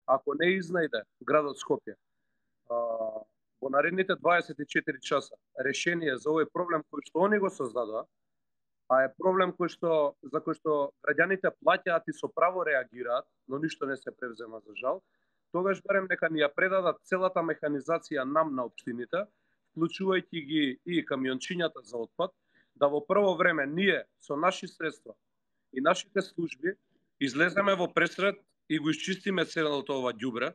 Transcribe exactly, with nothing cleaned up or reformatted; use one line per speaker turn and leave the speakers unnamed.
ако не изнајде градот Скопје во наредните дваесет и четири часа решение за овој проблем кој што они го создадоа, а е проблем кој што за кој што граѓаните плаќаат и со право реагираат, но ништо не се превзема за жал, тогаш барем нека ни ја предадат целата механизација нам на општините, вклучувајќи ги и камиончињата за отпад, да во прво време ние со наши средства и нашите служби излеземе во пресрет и го исчистиме целото ова ѓубре,